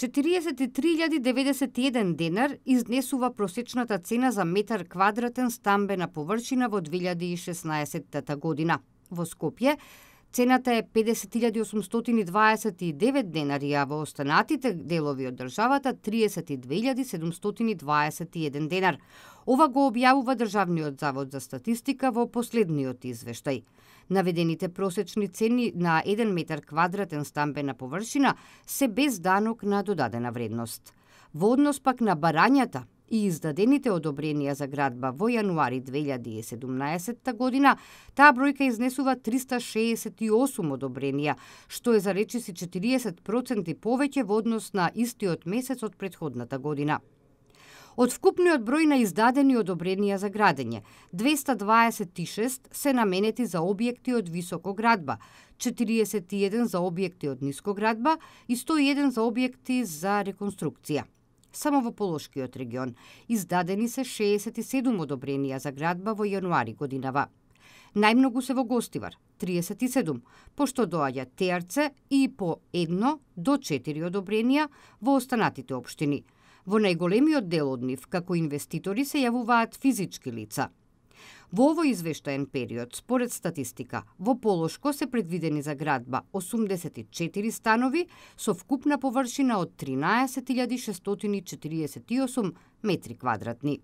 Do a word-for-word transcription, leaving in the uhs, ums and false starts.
четириесет и три илјади деветдесет и еден денар изнесува просечната цена за метар квадратен стамбена површина во две илјади и шеснаесетта година. Во Скопје цената е педесет илјади осумстотини дваесет и девет денари, а во останатите делови од државата триесет и две илјади седумстотини дваесет и еден денар. Ова го објавува Државниот завод за статистика во последниот извештај. Наведените просечни цени на еден метар квадратен стамбена површина се без данок на додадена вредност. Во однос пак на барањата и издадените одобренија за градба во јануари две илјади и седумнаесетта година, таа бројка изнесува триста шеесет и осум одобренија, што е за речиси четириесет проценти повеќе во однос на истиот месец од претходната година. Од вкупниот број на издадени одобренија за градење, двеста дваесет и шест се наменети за објекти од високо градба, четириесет и еден за објекти од ниско градба и сто и еден за објекти за реконструкција. Само во Полошкиот регион издадени се шеесет и седум одобренија за градба во јануари годинава. Најмногу се во Гостивар, триесет и седум, пошто доаѓа Теарце и по едно до четири одобренија во останатите општини. Во најголемиот дел од нив, како инвеститори, се јавуваат физички лица. Во овој извештаен период, според статистика, во Полошко се предвидени за градба осумдесет и четири станови со вкупна површина од тринаесет илјади шестстотини четириесет и осум метри квадратни.